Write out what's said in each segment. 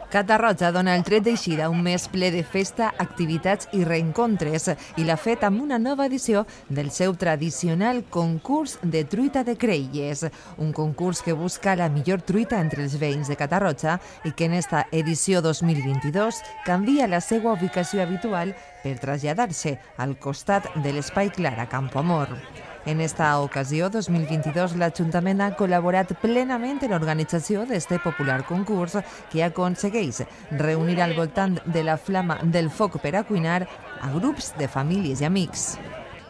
Catarroja dona el tret d'eixida un mes ple de festa, activitats i reencontres i l'ha fet amb una nova edició del seu tradicional concurs de truita de creïlles, un concurs que busca la millor truita entre els veïns de Catarroja i que en esta edició 2022 canvia la seva ubicació habitual per traslladar-se al costat de l'Espai Clar a Campoamor. En esta ocasió, 2022, l'Ajuntament ha col·laborat plenament en l'organització d'este popular concurs que aconsegueix reunir al voltant de la flama del foc per a cuinar a grups de famílies i amics.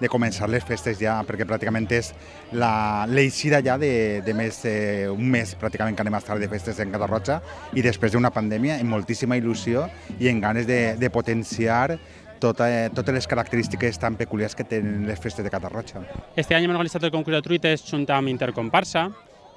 De començar les festes ja, perquè pràcticament és l'eixida ja de més un mes pràcticament que anem a estar de festes en Catarroja i després d'una pandèmia amb moltíssima il·lusió i amb ganes de potenciar totes les característiques tan peculiars que tenen les festes de Catarroja. Este any hem organitzat el concurs de truites junt amb Intercomparsa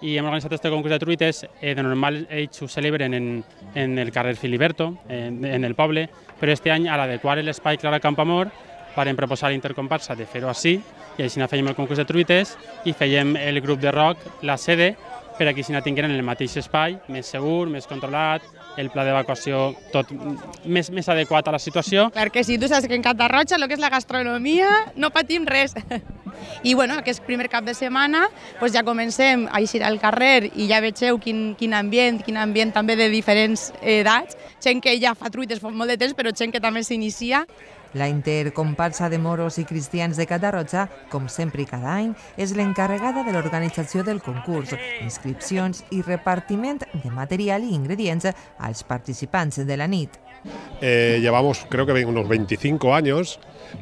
i hem organitzat este concurs de truites. De normal ells ho celebren en el carrer Filiberto, en el poble, però este any, a l'adequar l'Espai Clar a Campoamor, vam proposar a Intercomparsa de fer-ho així i així fèiem el concurs de truites i fèiem el grup de rock, la sede, per a que així tingueren el mateix espai, més segur, més controlat, el pla d'evacuació tot més adequat a la situació. Clar que sí, tu saps que en Catarroja el que és la gastronomia no patim res. I bueno, aquest primer cap de setmana ja comencem a eixir al carrer i ja vegeu quin ambient també de diferents edats, gent que ja fa truites fa molt de temps, però gent que també s'inicia. La Intercomparsa de moros i cristians de Catarroja, com sempre i cada any, és l'encarregada de l'organització del concurs, inscripcions i repartiment de material i ingredients als participants de la nit. Llevamos creo que unos 25 años,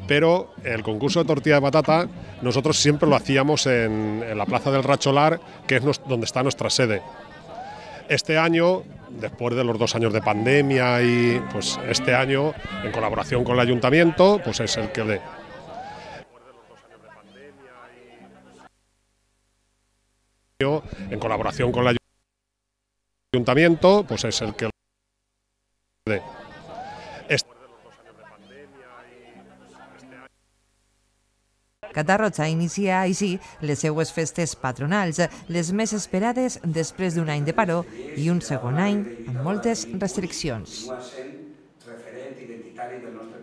pero el concurso de tortilla de patata nosotros siempre lo hacíamos en la Plaza del Racholar, que es donde está nuestra sede. Este año, después de los 2 años de pandemia y pues este año, en colaboración con el Ayuntamiento, pues es el que en colaboración con el Ayuntamiento, pues es el que Catarroja inicia així les seues festes patronals, les més esperades després d'un any de paró i un segon any amb moltes restriccions. Continua sent referent identitari del nostre